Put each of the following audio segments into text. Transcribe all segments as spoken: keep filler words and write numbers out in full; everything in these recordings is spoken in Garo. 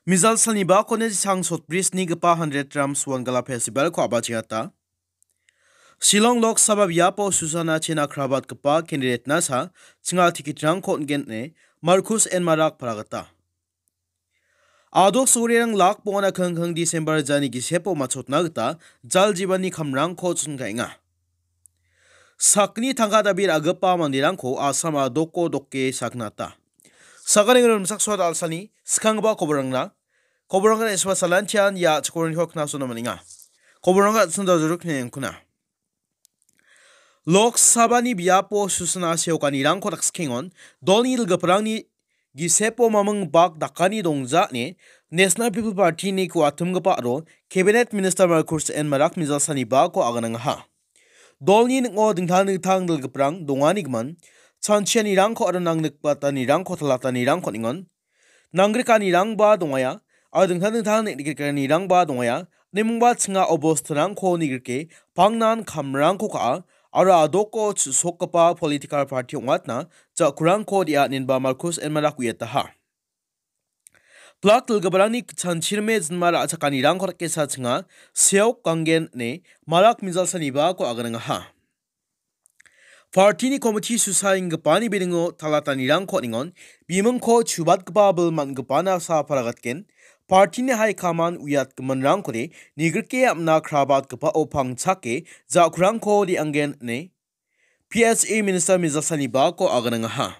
Mizal salni bakoni chang sotbrisnigipa hundred drums Wangala Festival-ko a·bachengata. Shillong Lok Sabha biapo Susana chena krabatgipa candidate-nasa chinga ticket-rangko on·gen ine Marcus N Marak palagita. Adok sorerang lak bongana kengkeng December jani gisepo matchotna gita jal jibani kamrangko chonkaenga. Sakni tangka dabi ra·gipa manderangko Assam adoko doke saknata. Sakani rimchaksoa dal·sani skanggipa koborangna, koborangna eswa salantian ia chikoringko knasona maninga. Koborangna sunda juruk ne yangkuna. Lok Sabhani biapo Susana seokanirangko dakskiengon, dolni dilgiparangni gisepo maming bak dakani dongja ine National People Party-ni kuatimgipa aro Cabinet Minister Marcus N Marak mijalsani bako aganangaha. Dolni ning·o dingtang dingtang dilgiparang donganigimin, chanchianirangko aro nangnikbatanirangko talatanirangko ningon. Nangrikanirangba dongaia, aro dingtang dingtang neng·grikanirangba dongaia, nimingba chinga obostanrangko nigrike, pangnan kamrangko ka·a, aro adoko chu·sokgipa political party ong·atna ja·kurangko re·a inenba Marcus N Marak uiataha. Plak dilgiparangni chanchirme jinma ra·chakanirangko dakesa chinga, seok ganggen ine Marak mijalsanibako aganangaha. Party-ni komiti susaenggipani bilingo talatanirangko ningon, bimingko chubatgipa bil man·gipana sa paragatgen, party-ni haikaman uiatgiminrangkode nigrike am·na krabatgipao pangchake ja·kurangko re·anggen ine P S A Minister mijalsanibako aganangaha.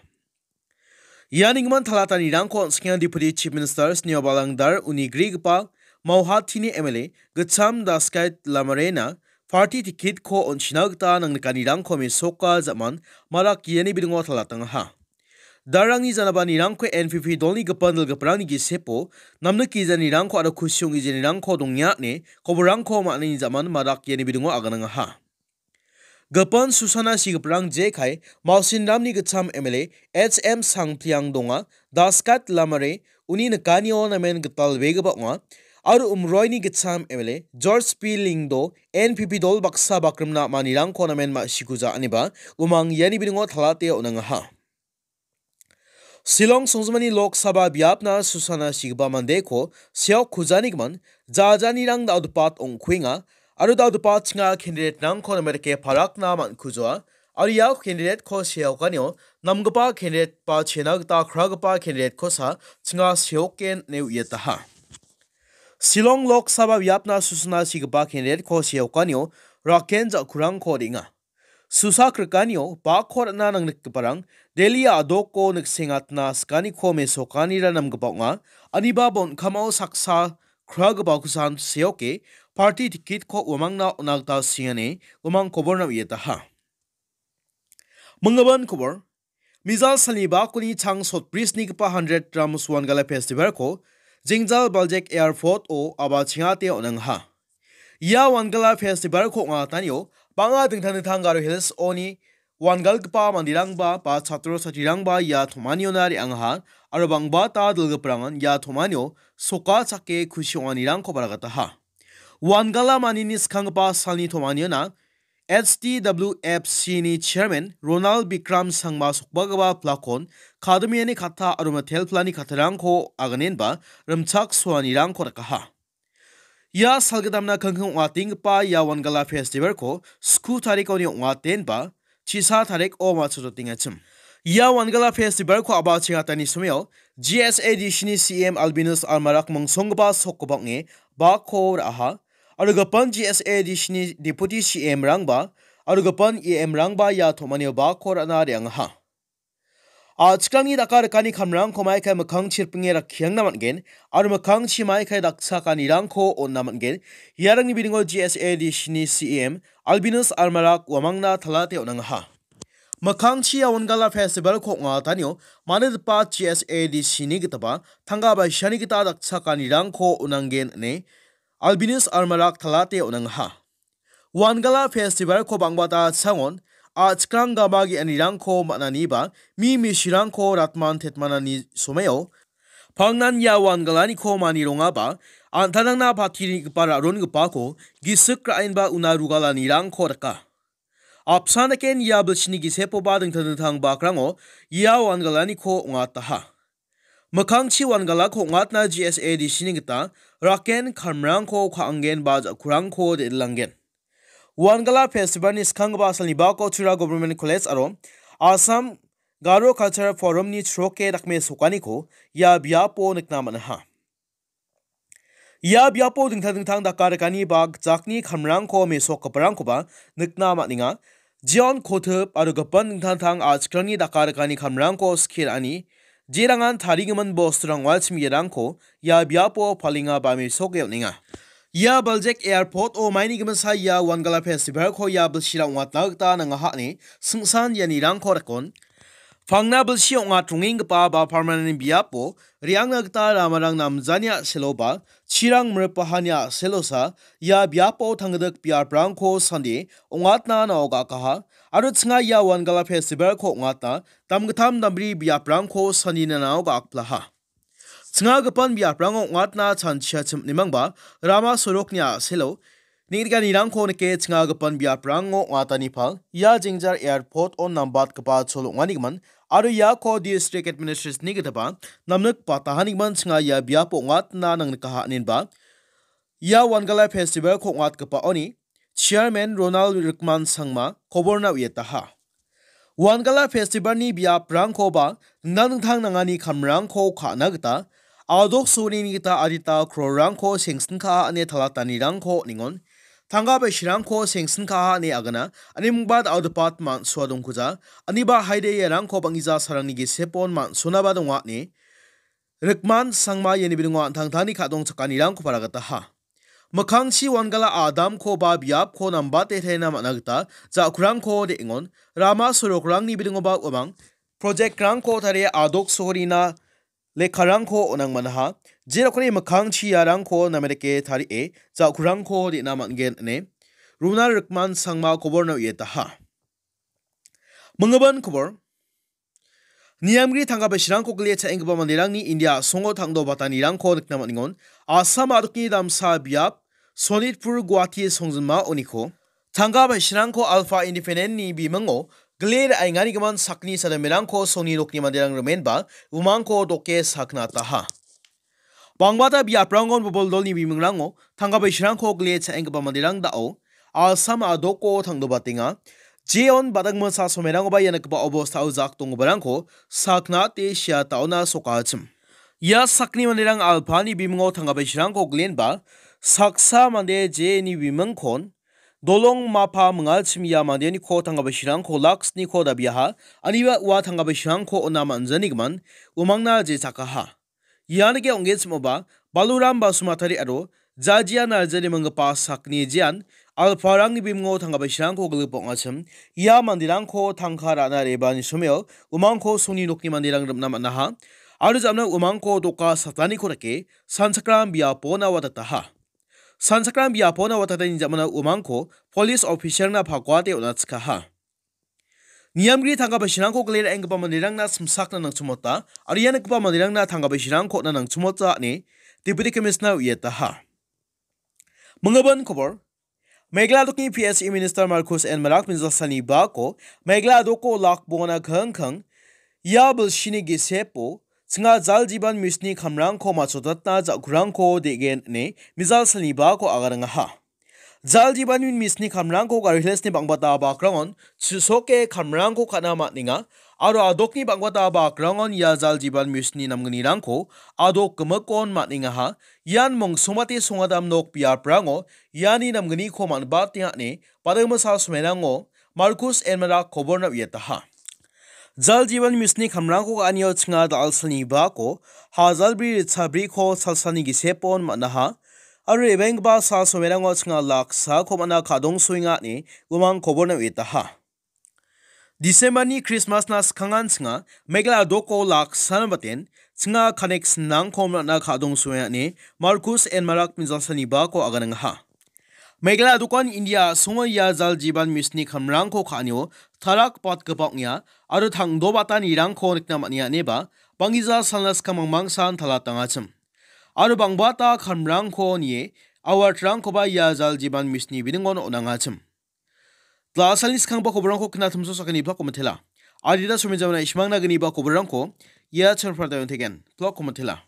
Ia ninggimin talatanirangko on·skenga Deputy Chief Minister Sniawbhalang Dhar uni grigipa Mauhatini M L A Gitcham Daskait Lamarena party ticket-ko on·china gita nangnikanirangko mesoka ja·man Marak iani bilingo talatangaha. Dharrangni janabanirangko N P P dolni gipin dilgiparangni gisepo namnik gijanirangko aro kusi ong·gijanirangko dongenga ine koborangko man·ani ja·man Marak iani bilingo aganangaha. Gipin Susana sigiparang jekai Mausinramni Gitcham M L A H M Sangpliang donga, Daskat Lamare uni nikanio namen gitalbegipa ong·a, aro Umroini Gitcham M L A George P Lyngdoh N P P dol baksa bakrimna manirangko namen ma·sikuja aniba umang iani bilingo talate on·angaha. Shillong songjinmani Lok Sabha biapna Susana sigipa mandeko seok kujanigimin jajanirang dal·gipat ong·kuenga aro dal·gipat chinga candidate-rangko namen dake parakna man·kujoa aro ia candidate-ko seokanio namgipa candidate ba chena gita kragipa candidate-kosa chinga seoken ine uiataha. Shillong Lok Sabha biapna Susana sigipa candidate-ko seokanio raken ja·kurangko re·enga. Susa krikanio bakko ra·na nangnikgiparang Delhi a·doko niksengatna sikaniko mesokanira namgipa ong·a, aniba bonkamao saksa kragipakosan seoke party ticket-ko uamangna on·a gita siengani umang koborna uiataha. Minggimin kobor, Mizal salni bakoni chang sotbrisnigipa hundred drums Wangala Festival-ko Jengjal Baljek Airport-o a·bachengate on·angaha. Ia Wangala Festival-ko ong·atanio bang·a dingtang dingtang Garo Hills-oni wangalgipa manderangba ba chatro chatrirangba ia tomaniona re·angaha aro bang·bata dilgiparangan ia tomanio soka chake kusi ong·anirangko baragataha. Wangala manini skanggipa salni tomaniona H D W F C-ni chairman Ronald Bikram Sangma sokbagipa plakon, kadimiani katta aro mitelplani kattarangko aganenba rimchaksoanirangko rikaha. Ia salgittamna kengkeng ong·atenggipa ia Wangala Festival-ko sku tarikoni ong·atenba chisa tariko matchototengachim. Ia Wangala Festival-ko a·bachengatani somao G S A D C-ni C E M Albinus Almarak mingsonggipa sokgipa ong·e bakko ra·aha. Aro gipin G S A D C-ni Deputy C E M-rangba aro gipin E M-rangba ia tomanio bakko ra·na re·angaha. A·chikrangni daka rikani kamrangko maikai mikkangchi ripinge rakkiangna man·gen aro mikkangchi maikai dakchakanirangko on·na man·gen. Iarangni bilingo G S A D C-ni C E M Albinus Almarak uamangna talate on·angaha. Mikkangchi ia Wangala Festival-ko ong·atanio manigipa G S A D C-ni gitaba tangka baisani gita dakchakanirangko on·angen ine Albinus Almarak talate on·angaha. Wangala Festival-ko bang·bata changon a·chikrang gama ge·anirangko man·aniba mi misirangko ratman tetmanani somao pangnan ia Wangalaniko manirongaba an·tangtangna patirigipa ra·rongipako gisik ra·enba una rugalanirangko rika. Apsan daken ia bilsini gisepoba dingtang dingtang bakrango ia Wangalaniko ong·ataha. Mikkangchi Wangalako ong·atna G S A D C-ni gita raken kamrangko ka·angen ba ja·kurangko de·rilangen. Wangala Festival-ni skanggipa salni bako Tura Government College aro Assam Garo Cultural Forum-ni chroke dakmesokaniko ia biapo nikna man·aha. Ia biapo dingtang dingtang dakarikani ba gitchakni kamrangko mesokgiparangkoba nikna man·enga. Jeon Kotip aro gipin dingtang dingtang a·chikrangni dakarikani kamrangko skie ra·ani jerangan tarigimin bosturang ong·achim iarangko ia biapo palenga ba mesoke on·enga. Ia Baljek Airport-o maini gimsa ia Wangala Festival-ko ia bilsira ong·atna gita nangaha ine singsan ianirangko rakon. Pangna bilsi ong·atrongenggipa ba permanent biapo re·angna gita ramarang namjani a·seloba chirang miripahani a·selosa ia biapo tanggidik biaprangko sandie ong·atna nao ga·akaha aro chinga ia Wangala Festival-ko ong·atna damgittam dambri biaprangko sandina nao ga·akplaha. Chinga gipin biaprango ong·atna chanchia chimnimangba rama sorokni a·selo neng·rikanirangko nike chinga gipin biaprango ong·atani pal ia Jengjal Airport-o nambatgipa chol ong·anigimin aro iako District Administration-ni gitaba namnik batahanigimin chinga ia biapo ong·atna nang nikaha inenba ia Wangala Festival-ko ong·atgipaoni Chairman Ronald Rikman Sangma koborna uietaha. Wangala Festival-ni biaprangkoba dingtang dingtang nangani kamrangko ka·na gita adok sorini gita adita krorrangko sengsinkaha ine talatanirangko ningon. Tangka bai sirangko sengsinkaha ine agana animingba da·odepat man·soa dongkuja. Aniba haide iarangko bang·gija sarangni gisepon man·sonaba donga ine Rikman Sangma iani bilingo an·tangtangni ka·dongchakanirangko paragataha. Mikkangchi Wangala adamko ba biapko nambate taina man·a gita ja·kurangko de·engon. Rama sorokrangni bilingoba uamang project-rangko tarie adok sohorina lekkarangko on·ang manaha. Jerokni mikkangchi iarangko namedake tarie ja·kurangko de·na man·gen ine Ronald Rikman Sangma koborna uietaha. Minggipa kobor. Niamgri tangka bai sirangko gile cha·enggipa manderangni India a·songo tangdo batanirangko nikna man·engon. Assam a·dokni damsa biap Sonitpur Guwahati songjinma oniko tangka bai sirangko Alpha Independent-ni bimingo gile ra·enganigimin sakni sademerangko songni nokni manderang rimenba umangko doke saknataha. Bangbata biaprangon boboldolni bimingrango tangka bai sirangko gile cha·enggipa manderang da·o Assam a·doko tangdobatenga. Jeon badangmasa somerangoba ia nikgipa obostao jak donggiparangko saknate sia taona sokachim. Ia sakni manderang Alpha-ni bimingo tangka bai sirangko gilenba saksa mande jeni bimingkon dolong mapa mingachim ia mandeniko tangka bai sirangko laksniko dabiaha. Aniba ua tangka bai sirangko ona man·janigimin umangna je chakaha. Ianike ong·genchimoba, Baluram Basumatari aro Jajia Narjari minggipa sakni jean, Alparangni bimingo tangka bai sirangko gilip ong·achim, ia manderangko tangka ra·na re·bani someo umangko songni nokni manderang rim·na man·aha, aro jamna umangko doka sataniko dake sanchakram biapona watataha. Sanchakram biapona watatani jamana umangko police officer-na pakuate on·achikaha. Niamgri tangka bai sirangko gile ra·enggipa manderangna simsakna nangchimota, aro ia nikgipa manderangna tangka bai sirangko on·na nangchimota ine Deputy Commissioner uietaha. Minggipa kobor. Meghalaya dokni P S E Minister Marcus N Marak Mijalsalni bako Meghalaya doko lak bongana kangkang ia bilsini gisepo chinga Jal Jeevan Mission-ni kamrangko machotatna ja·kurangko de·gen ine Mijalsalni bako agarangaha. Jal Jeevan Mission-ni kamrangko Garo Hills-ni bang·bata bakrangon chisoke kamrangko ka·na man·enga, aro a·dokni bang·bata bakrangon ia Jal Jeevan Mission-ni namgnirangko a·dok gimikon man·engaha. Ian mongsongmate songadam nok biaprango iani namgniko man·batenga ine badingmasa somerango Marcus N Marak koborna uietaha. Jal Jeevan Mission-ni kamrangko ka·anio chinga da·alsalni bako hajalbri ritchabriko salsalni gisepon man·aha, aro re·baenggipa sal somerango chinga laksako man·a ka·dongsoenga ine umang koborna uietaha. December-ni Christmas-na skangan chinga Meghalaya doko laksana baten chinga connection-rangko man·a ka·dongsoenga ine Marcus N Marak Mijalsalni bako aganangaha. Meghalaya dokan India a·songo ia Jal Jeevan Mission-ni kamrangko ka·anio tarak batgipa ong·a aro tangdobatanirangko nikna man·enga ineba bang·gija salna skang mangmangsan talatangachim. Aro bang·bata kamrangko nie award-rangkoba ia Jal Jeevan Mission-ni biningon on·angachim. Glasalni skangba koborrangko knatimso sakgni blako mitela. Adita somijamna ismangna gniba koborrangko ia chorpra dayong tegen, plok komatela.